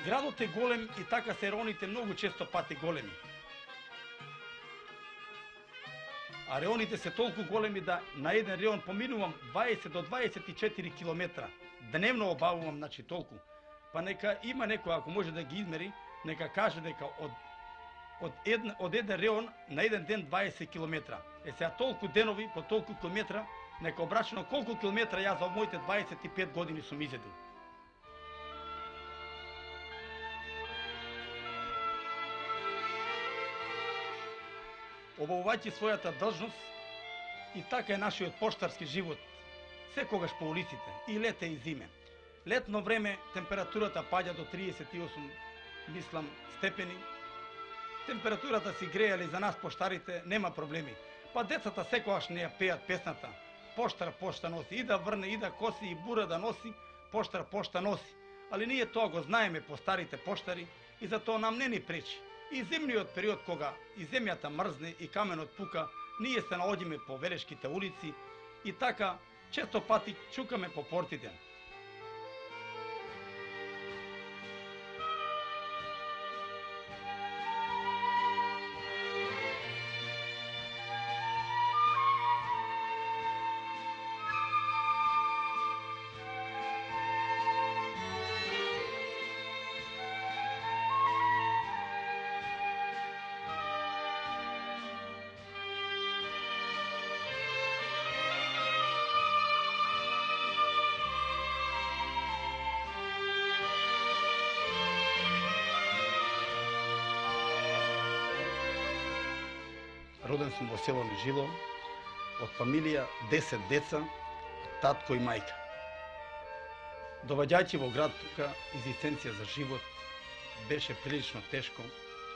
Градот е голем и така се реоните многу често пати големи. А реоните се толку големи да на еден реон поминувам 20 до 24 километра. Дневно обавувам, значи толку. Па нека има некој, ако може да ги измери, нека каже дека од еден реон на еден ден 20 километра. Сега толку денови по толку километра, нека обрачено колку километра јас за моите 25 години сум изедил. Обавувајќи својата должност, и така е нашиот поштарски живот, секогаш по улиците, и лете и зиме. Летно време температурата паѓа до 38, мислам, степени. Температурата си грее, али за нас поштарите нема проблеми. Па децата секогаш не ја пеат песната. Поштар пошта носи, и да врне, и да коси, и бура да носи, поштар пошта носи. Али ние тоа го знаеме по старите поштари и затоа нам не ни пречи. И зимниот период кога и земјата мрзне и каменот пука, ние се наоѓаме по велешките улици и така често пати чукаме по портите. Роден сум во село Нежило, од фамилија 10 деца, татко и мајка. Доваѓајќи во град тука, изистенција за живот беше прилично тешко.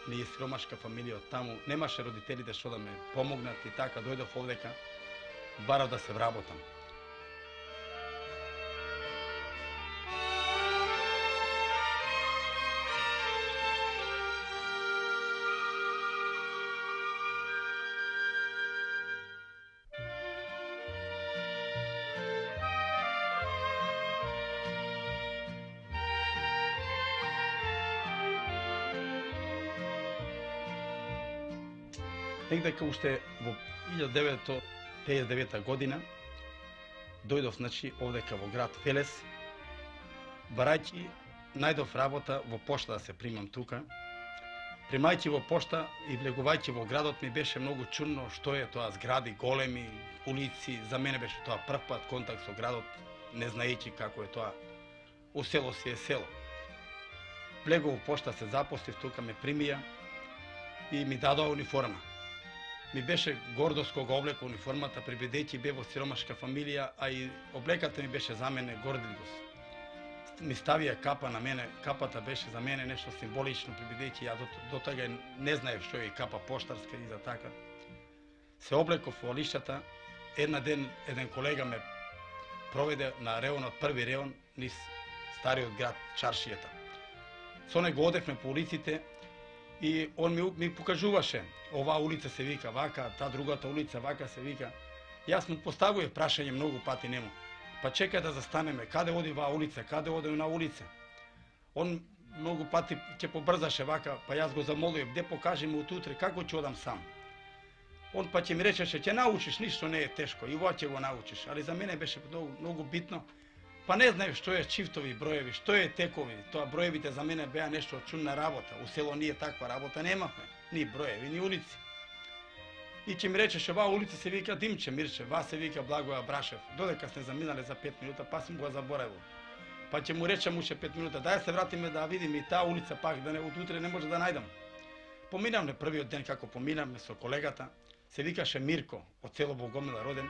Ние сиромашка фамилија од таму, немаше родителите што да ме помогнат и така дојдов овдека, барав да се вработам. Некако уште во 1959 година дојдов, значи, овдека во град Велес, барајќи најдов работа во пошта да се примам тука. Примајќи во пошта и влегувајќи во градот ми беше многу чудно што е тоа згради големи, улици. За мене беше тоа прв пат контакт со градот, не знаејќи како е тоа. У село си е село. Влегов во пошта, се запослив, тука ме примија и ми дадоа униформа. Ми беше гордост кога облека униформата, прибедејќи бе во сиромашка фамилија, а и облеката ми беше за мене гордилгост. Ми ставија капа на мене, капата беше за мене нешто символично, прибедејќи ја до тога не знаев што е капа поштарска и за така. Се облеков во лиштата, еден колега ме проведе на реонот, први реон, низ стариот град Чаршијата. Со него одевме по улиците и он ми покажуваше, оваа улица се вика вака, та другата улица вака се вика. Јас му поставував прашање многу пати нему. Па чекај да застанеме, каде оди оваа улица, каде оди на улица. Он многу пати ќе побрзаше вака, па јас го замолував, де покажи ми утутре, како ќе одам сам. Он па ќе ми речеше, ќе научиш, ништо не е тешко, и ова ќе го научиш. Али за мене беше многу битно. Па не знаев што е чифтови броеви, што е текови. Тоа броевите за мене беа нешто чудна работа. У село ние таква работа немавме, ни броеви, ни улици. И ќе ми речеше, оваа улица се вика Димче Мирче, ва се вика Благоја Брашев. Додека сме заминале за 5 минута, па сум го заборавил. Па ќе му речем уште 5 минута, дај се вратиме да видиме и таа улица пак, да не од утре не може да најдам. Поминавме првиот ден како поминавме со колегата, се викаше Мирко, од село Богомила роден,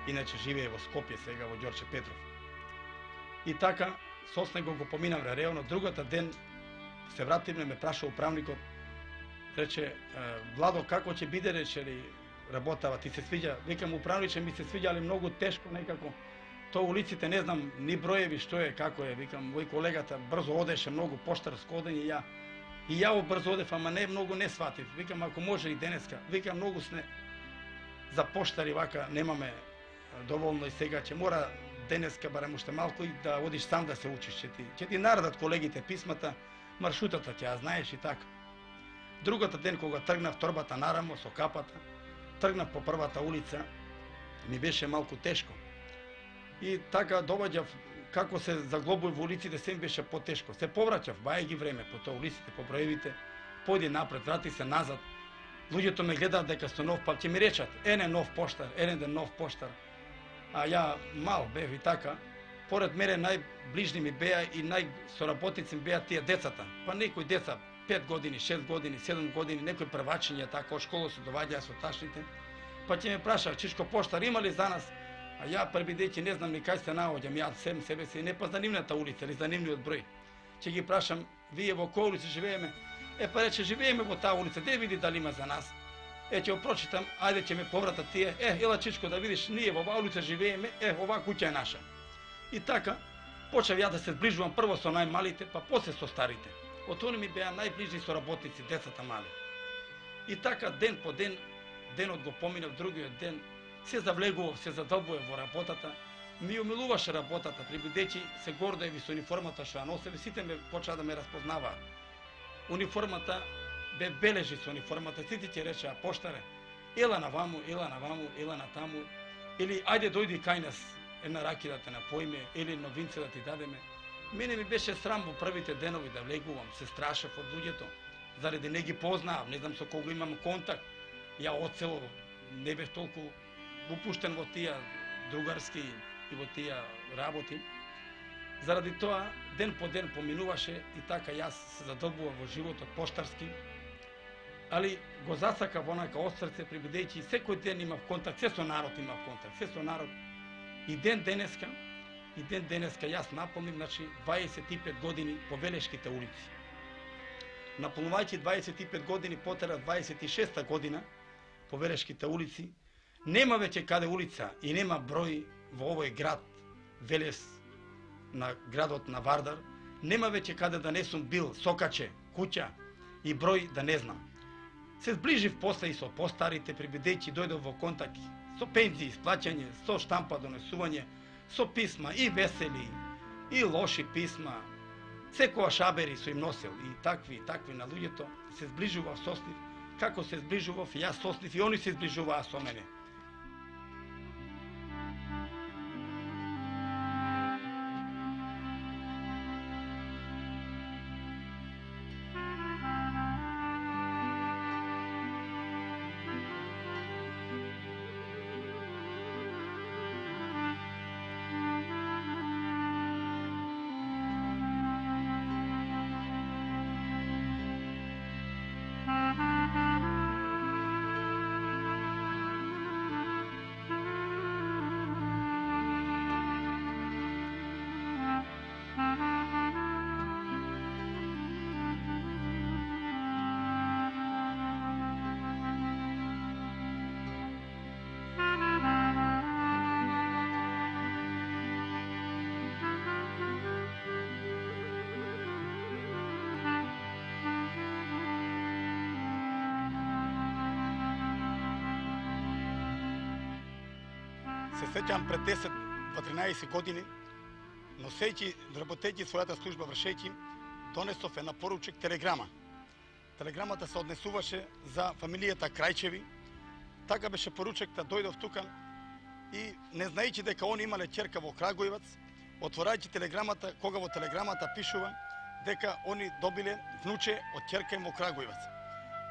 иначе живее во Скопје сега во Ѓорче Петров. И така, со него го поминавме реално, другата ден се вративме, ме праша управникот, рече, Владо, како ќе биде, рече ли, работава, ти се свиѓа? Викам, управниче, ми се свиѓа, али многу тешко некако. То улиците, не знам, ни броеви, што е, како е, викам, мој колегата брзо одеше, многу поштарско одење, и ја брзо одев, ама не многу не сватив. Викам, ако може и денеска, викам, многу сме за поштари, вака, немаме доволно и сега ќе мора денеска, барем уште малку, и да одиш сам да се учиш, ќе ти наредат колегите писмата, маршрутата ќе ја знаеш и така. Другата ден кога тргнав торбата нарамо со капата, тргнав по првата улица, ми беше малку тешко. И така доваѓав како се заглобуј во улиците, се ми беше потешко. Се повраќав, бајајќи време по тоа улиците, по броевите, појди напред, врати се назад. Луѓето ме гледаат дека сум нов, па ќе ми речат, ене нов поштар, ене ден нов поштар. А ја мал бев и така. Поред мене најближни ми беа и најсоработници ми беа тие децата. Па некои деца 5 години, 6 години, 7 години, некои првачиња така од школа се доваѓаа со ташните. Па ќе ме праша, Чичко поштар има ли за нас? А ја пребидејќи не знам ни кај се наоѓам, ја сем себе си не познам нивната улица или за нивниот број. Ќе ги прашам, вие во која улица живееме? Па рече, живееме во таа улица, де види дали има за нас. Ќе го прочитам, ајде ќе ме повратат тие, ела Чичко да видиш, ние во оваа улица живееме, оваа куќа е наша. И така, почев ја да се зближувам прво со најмалите, па после со старите. Од они ми беа најближни соработници, децата мали. И така, ден по ден, денот го поминав, другиот ден, се завлегував, се задобував во работата, ми умилуваше работата, прибидејќи се гордеви со униформата што ја носев, сите ме почаа да ме разпознаваат. Униформата бе бележи со униформата, сите ќе речеа, поштаре, ела на ваму, ела на таму, или ајде дојди кај нас, една раки да те напоиме, или новинце да ти дадеме. Мене ми беше срам во првите денови да влегувам, се страшев од луѓето, заради не ги познаав, не знам со кого имам контакт. Ја оцело не бев толку упуштен во тие другарски и во тие работи. Заради тоа, ден по ден поминуваше и така јас се задобував во животот поштарски, али го засакав онака од срце, прибидејќи секој ден имав контакт, се со народ имав контакт, се со народ. И ден денеска јас напомним, значи 25 години по Велешките улици. Наполнувајќи 25 години потера 26-та година по Велешките улици, нема веќе каде улица и нема број во овој град, Велес, на градот на Вардар, нема веќе каде да не сум бил, сокаче, куќа и број да не знам. Се зближив после и со постарите, прибидејќи дојдов во контакт со пензии, исплаќање, со штампа донесување, со писма и весели, и лоши писма, секоја шабери со им носел и такви на луѓето, се зближував со нив, како се зближував јас со нив и они се зближуваа со мене. Се сеќам пред 10-13 години, носејќи, работејќи својата служба, вршејќи, донесов една поручек телеграма. Телеграмата се однесуваше за фамилијата Крајчеви. Така беше поручекта, дојдов тука и не знаејќи дека они имале ќерка во Крагуевац, отворајќи телеграмата, кога во телеграмата пишува дека они добиле внуче од ќерка им во Крагуевац.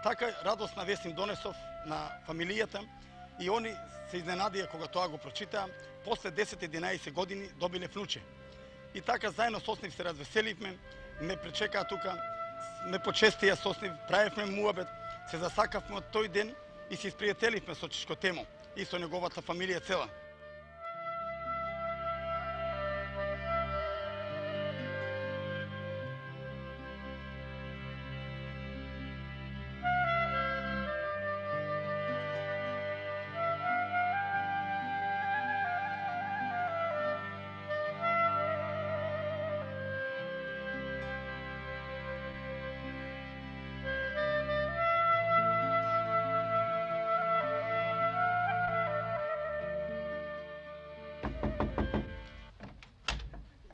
Така радосна вест им донесов на фамилијата и они се изненадија кога тоа го прочитаа, после 10-11 години добиле внуче. И така заедно со нив се развеселивме, ме пречекаа тука, ме почестија со нив, правевме муабет, се засакавме од тој ден и се испријателивме со Чичко Темо и со неговата фамилија цела.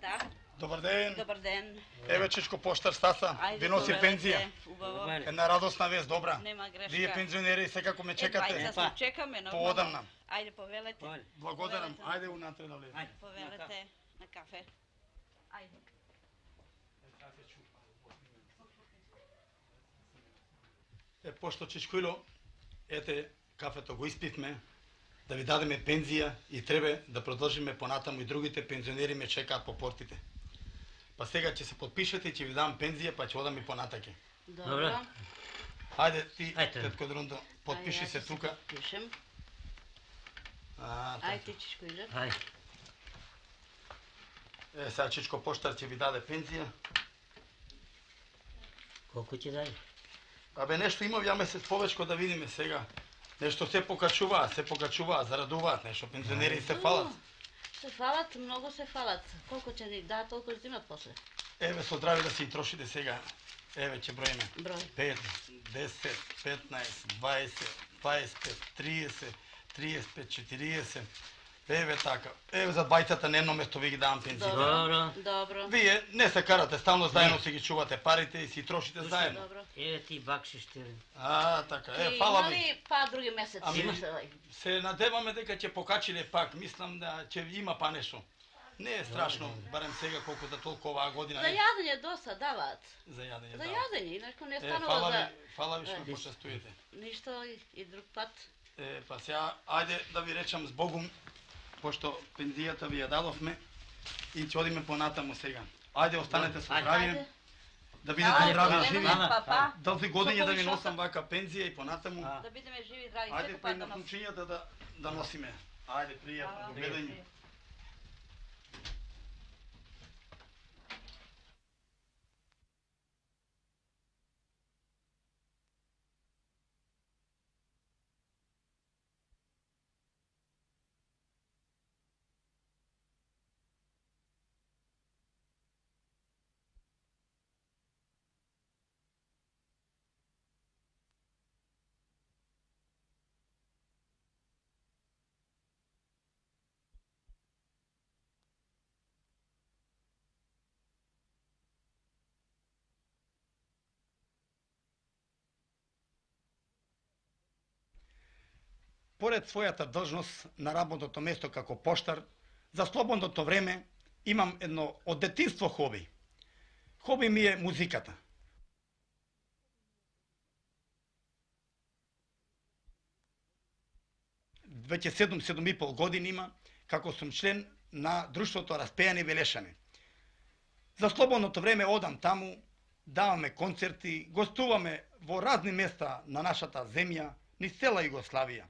Да. Добар ден. Добар ден. Еве Чичко поштар Стаса, ви носи пензија. Една радосна вест, добра. Нема грешка. Вие пензионери секако ме чекате. Бајца се чекаме нормално. Поодамна. Ајде повелете. Благодарам. Ајде унатре да влеземе. Повелете на кафе. Ајде. Пошто Чичкујло, ете кафето го испивме, да ви дадеме пензија и треба да продолжиме понатаму и другите пензионери ме чекаат по портите. Па сега ќе се подпишете и ќе ви дам пензија, па ќе одам и понатаке. Добро. Ајде ти, тетко Друндо, подпиши се тука. Пишем. Ајде Чичкујле. Ајде. Сега Чичко поштар ќе ви даде пензија. Колку ќе даде? Абе нешто имав ја месец повечко да видиме сега. Нешто се покачуваат, зарадуваат нешто, пензионери се фалат. Се фалат, многу се фалат. Колку ќе ни дадат, толку ќе земат после. Еве со здраве да си трошите сега. Еве ќе броиме. Број. 5, 10, 15, 20, 25, 30, 35, 40. Еве така. Еве за двајцата на едно место ви ги давам пензија. Добро. Вие не се карате стално заедно, си ги чувате парите и си трошите заедно. Добро. Еве ти бакшиш ти. Така. Фала ви. Имали па други месеци? Се надеваме дека ќе покачиле пак. Мислам да ќе има па нешто. Не е страшно, барем сега колку да толку оваа година. За јадење доста даваат. За јадење. За јадење, иначе не станува за. Фала ви што ме почестувате. Ништо и друг пат. Па сега ајде да ви речам збогум, пошто пензијата ви ја дадовме и ќе одиме понатаму сега. Ајде останете со здравје. Да бидете здрави и живи. Долги години да ви носам вака пензија и понатаму. Да бидеме живи и здрави. Ајде па на кучињата да носиме. Ајде пријатно, гледање. Поред својата должност на работното место како поштар, за слободното време имам едно од детинство хоби. Хоби ми е музиката. Веќе 7,5 години има како сум член на друштвото Распејани Велешани. За слободното време одам таму, даваме концерти, гостуваме во разни места на нашата земја, низ цела Југославија.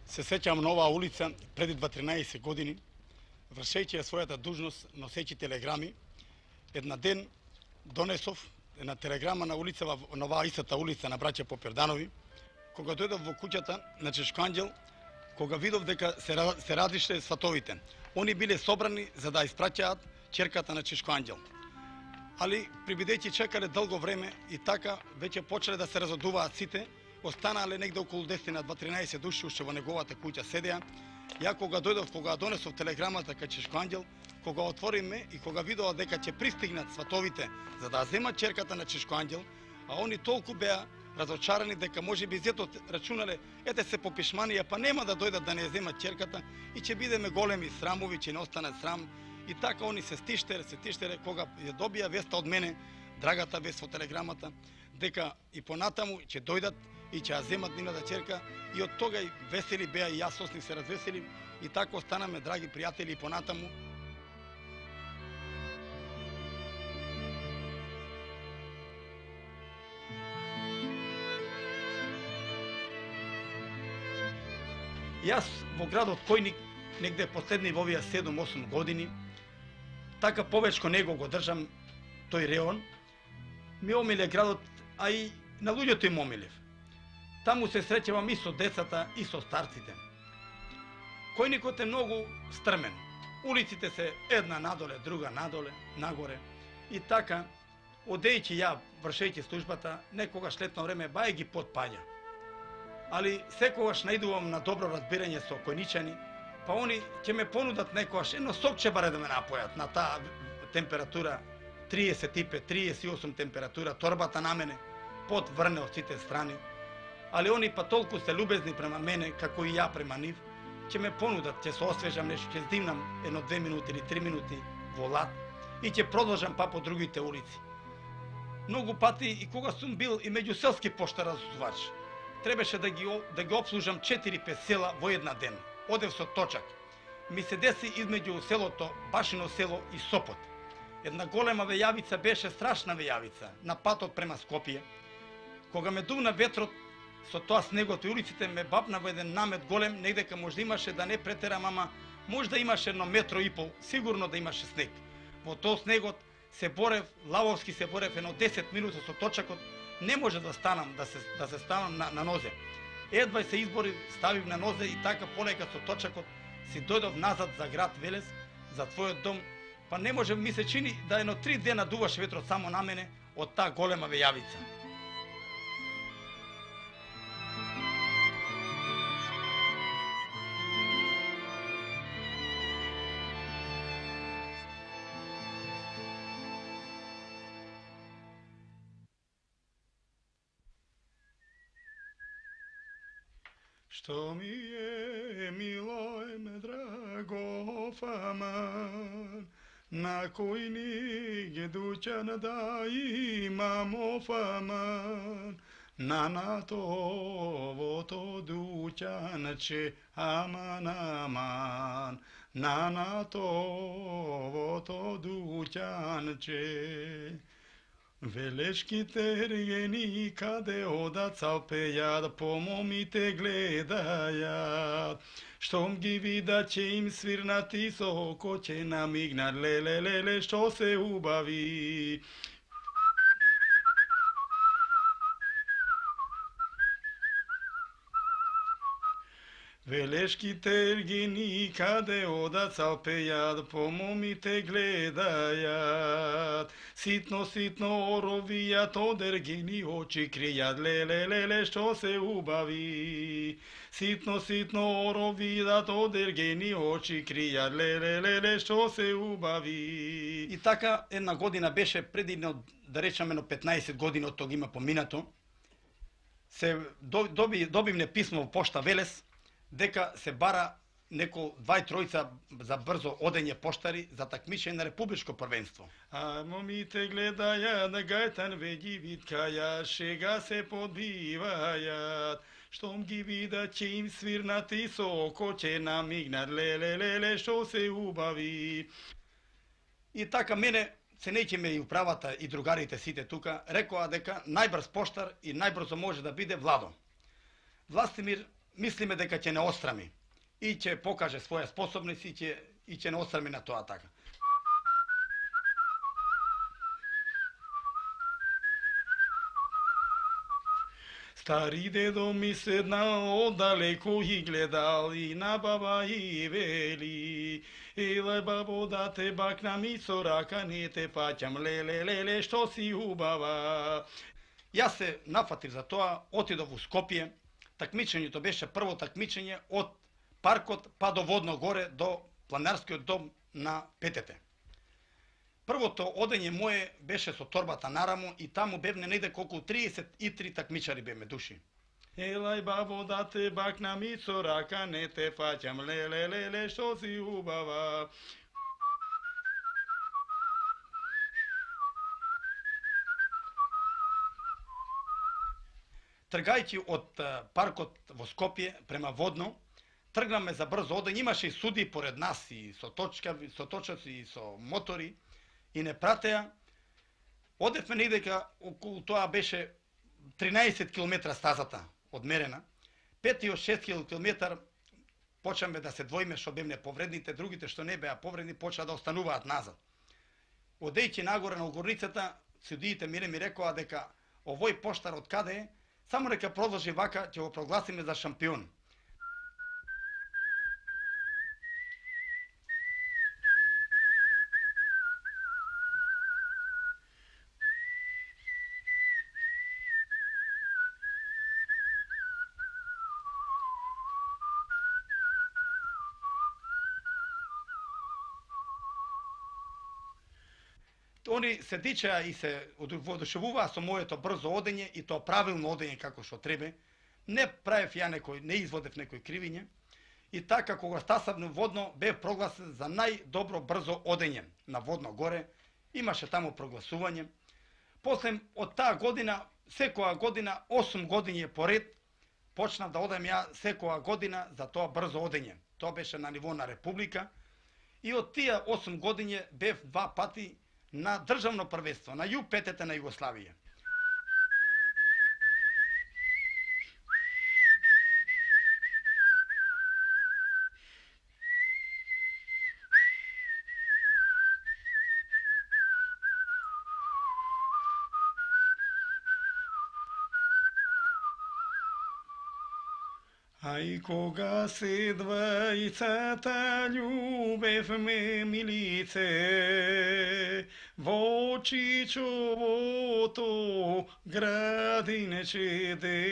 Се сеќавам на оваа улица преди 13 години, вршејќи ја својата дужност, носејќи телеграми, една ден донесов една телеграма на улица, на оваа истата улица на браќа Поперданови, кога дојдов во куќата на Чичко Анѓел, кога видов дека се разишле сватовите. Они биле собрани за да испраќаат ќерката на Чичко Анѓел. Али прибидејќи чекале долго време и така веќе почеле да се разодуваат сите, останале негде околу 10 на 13 души уште во неговата куќа седеа Ја кога дојдов, кога донесов телеграмата кај Чешко Анѓел, кога отвориме и кога видела дека ќе пристигнат сватовите за да земат черката на Чешко Анѓел, а они толку беа разочарани дека можеби зетот рачунале, ете се по пишманија, па нема да дојдат да не земат черката и ќе бидеме големи срамови, ќе не останат срам. И така они се тиштере, кога ја добија веста од мене, драгата вест во телеграмата, дека и понатаму ќе дојдат и ќе ја земат нивната черка, и од тога и весели беа, и јас со нив се развесели, и така останаме драги пријатели и понатаму. Јас во градот Којник, негде последни во овие 7-8 години, така повечко него го држам тој реон, ми омиле градот, а и на луѓето им омилев. Таму се среќавам и со децата, и со старците. Којникот е многу стрмен. Улиците се една надоле, друга надоле, нагоре. И така, одејќи ја, вршејќи службата, некогаш летно време бај ги потпаѓа. Али секогаш наидувам на добро разбирање со којничани, па они ќе ме понудат некогаш едно сокче баре да ме напојат на таа температура 35-38 температура, торбата на мене, пот врне од сите страни. Али они па толку се любезни према мене, како и ја према нив, ќе ме понудат, ќе се освежам нешто, ќе здимнам 1-2 минути или 3 минути во лад и ќе продолжам па по другите улици. Многу пати и кога сум бил и меѓуселски поштаразувач, требаше да ги обслужам 4-5 села во една ден. Одев со точак. Ми се деси измеѓу селото Башино село и Сопот. Една голема вејавица беше страшна вејавица на патот према Скопје. Кога ме дувна ветрот, со тоа снегот и улиците ме бапна во еден намет голем, негдека можда имаше, да не претерам, ама можда имаше 1,5 метра, сигурно да имаше снег. Во тој снегот се борев, лавовски се борев едно 10 минути со точакот, не може да станам, да се ставам на нозе. Едва се избори, ставив на нозе и така полека со точакот си дојдов назад за град Велес, за твојот дом, па не може, ми се чини да едно 3 дена дуваше ветрот само на мене од таа голема вејавица. Што ми е мило е ме драго фаман, на Којник дуќан да имам фаман, на товото дуќанче аман аман, на товото дуќанче. Велешките регени каде одат цалпејат, по момите гледајат. Штом ги видат ќе им свирнат и со око ќе намигнат, леле, што се убави. Велешките ергени каде одат цалпејат, по момите гледајат. Ситно оровијат, од ергени очи кријат, леле, што се убави. Ситно оровијат, од ергени очи кријат, леле, што се убави. И така една година беше преди, да речеме, 15 години од тога има поминато, се добивне писмо во пошта Велес, дека се бара неко 2-3 за брзо одење поштари за такмичење на републичко првенство. А момите гледаја на гајтан веѓи виткаја, шега се подбивајат. Штом ги видат ќе им свирнат и со око ќе намигнат, леле, што се убави. И така мене, ценејќи ме и управата и другарите сите тука, рекоа дека најбрз поштар и најбрзо може да биде Владо. Властимир мислиме дека ќе не острами и ќе покаже своја способност и ќе не острами на тоа така. Стари дедо ми седнал оддалеку и гледал, и на баба и вели: еле бабо да те бакнам и со рака не те фаќам, леле, што си убава. Јас се нафатив за тоа, отидов у Скопје. Такмичењето беше прво такмичење од паркот па до Водно горе, до планинарскиот дом на Петете. Првото одење мое беше со торбата нарамо и таму бевне негде колку 33 такмичари беме души. Елај бабо да те бакнам и со рака не те фаќам, леле, што си убава. Тргајќи од паркот во Скопје према Водно, тргнаме за брзо одење, имаше и суди поред нас и со точаци и со мотори и не пратеа. Одевме негдека околу тоа беше 13 км стазата одмерена. 5-6 км почнаме да се двоиме што бевне повредните, другите што не беа повредни почна да остануваат назад. Одејќи нагоре на горницата, судиите ми рекоа дека овој поштар од каде е, само нека продолжи вака, ќе го прогласиме за шампион. Они се дичаа и се воодушевуваа со моето брзо одење и тоа правилно одење како што требе. Не правев ја не изводев некој кривиње. И така кога стасав на Водно бев прогласен за најдобро брзо одење на Водно горе. Имаше таму прогласување. После од таа година, секоја година 8 години поред почнав да одам ја секоја година за тоа брзо одење. Тоа беше на ниво на република и од тие 8 години бев 2 пати на државно првенство, на Ю-5 на Југославија. Ај кога се двајцата љубевме милице, во Чичовото градинче де.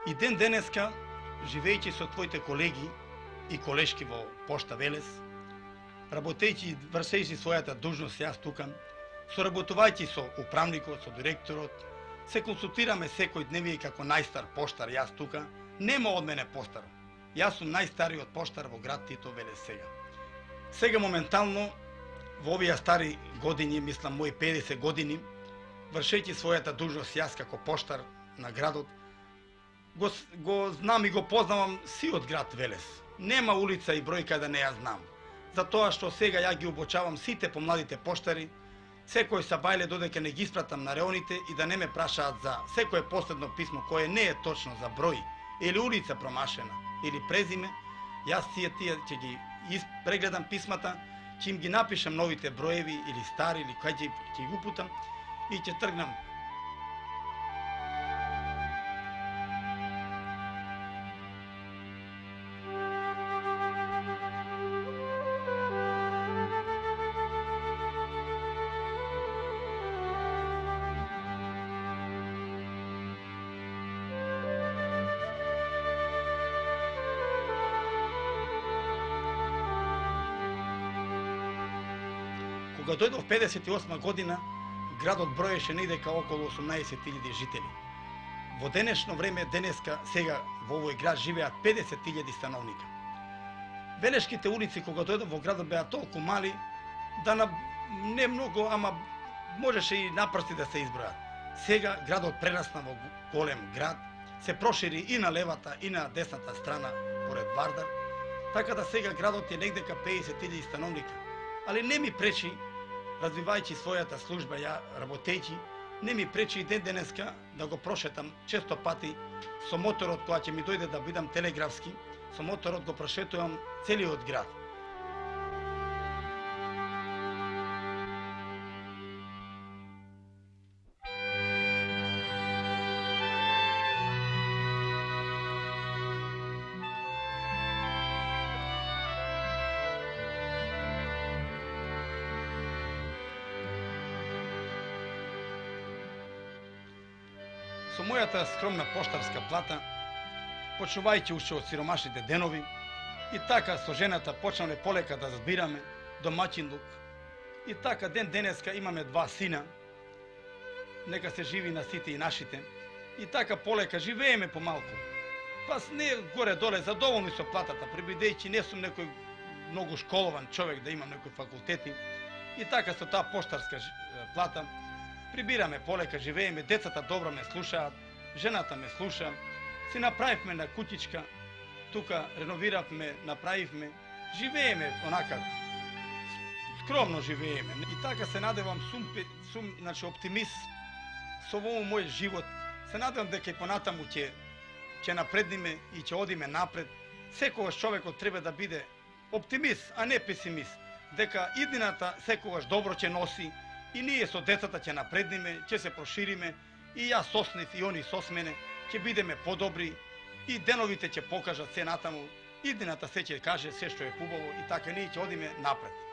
И ден денеска, живејќи со твоите колеги и колешки во Пошта Велес, работејќи и вршејќи својата должност јас тука, соработувајќи со управникот, со директорот, се консултираме секој дневие како најстар поштар јас тука, нема од мене постар. Јас сум најстариот поштар во град Тито Велес сега. Сега моментално во овие стари години, мислам мои 50 години, вршејќи својата должност јас како поштар на градот, го знам и го познавам сиот град Велес. Нема улица и бројка да не ја знам. Затоа што сега ја ги обучавам сите помладите поштари, секој сабајле додека не ги испратам на реоните и да не ме прашаат за секое последно писмо кое не е точно за број или улица промашена или презиме, јас тие ќе ги прегледам писмата, ќе им ги напишам новите броеви или стари или кај ќе ги упутам и ќе тргнам. Кога дојдов 58 година, градот броеше недека околу 18.000 жители. Во денешно време, денеска, сега во овој град живеат 50.000 становника. Велешките улици кога дојдов во градот беа толку мали, да не многу, ама можеше и напрсти да се избројат. Сега градот прерасна во голем град, се прошири и на левата и на десната страна поред Вардар, така да сега градот е негдека 50.000 становника. Али не ми пречи, развивајќи својата служба, ја работејќи, не ми пречи и ден денеска да го прошетам често пати со моторот, кога ќе ми дојде да бидам телеграфски, со моторот го прошетувам целиот град. со мојата скромна поштарска плата, почнувајќи уште од сиромашните денови, и така со жената почнаме полека да збираме домаќинлук. И така ден денеска имаме 2 сина, нека се живи на сите и нашите, и така полека живееме помалку. Пас не горе-доле задоволни со платата, прибидејќи не сум некој многу школован човек да имам некои факултети, и така со таа поштарска плата прибираме полека, живееме, децата добро ме слушаат, жената ме слуша, си направивме на кутичка, тука реновиравме, направивме, живееме онака, скромно живееме. И така се надевам, сум значи, оптимист со овој мој живот. Се надевам дека и понатаму ќе напредниме и ќе одиме напред. Секогаш човекот треба да биде оптимист, а не песимист. Дека иднината секогаш добро ќе носи и ние со децата ќе напредниме, ќе се прошириме, и јас соснив и они сос мене, ќе бидеме подобри и деновите ќе покажат се натаму, иднината се ќе каже се што е хубаво и така ние ќе одиме напред.